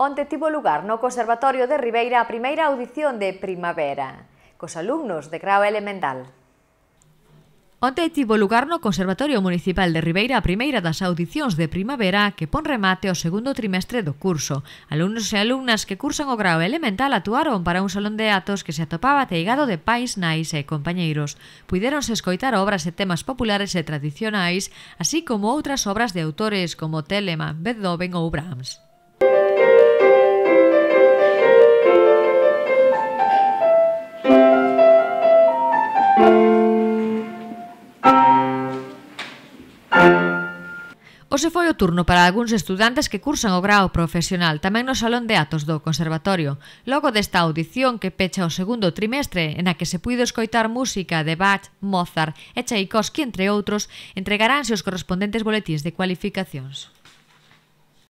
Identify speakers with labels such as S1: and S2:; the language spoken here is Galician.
S1: Onte tivo lugar no Conservatorio de Ribeira a primeira audición de Primavera, cos alumnos de grao elemental.
S2: Onte tivo lugar no Conservatorio Municipal de Ribeira a primeira das audicións de Primavera que pon remate ao segundo trimestre do curso. Alumnos e alumnas que cursan o grao elemental actuaron para un salón de actos que se atopaba ateigado de pais, nais e compañeiros. Puidéronse escoitar obras e temas populares e tradicionais, así como outras obras de autores como Telemann, Beethoven ou Brahms. Hoxe foi o turno para algúns estudantes que cursan o grao profesional tamén no Salón de Actos do Conservatorio. Logo desta audición que pecha o segundo trimestre, en a que se puido escoitar música de Bach, Mozart e Tchaikovsky, entre outros, entregaránse os correspondentes boletíns de cualificacións.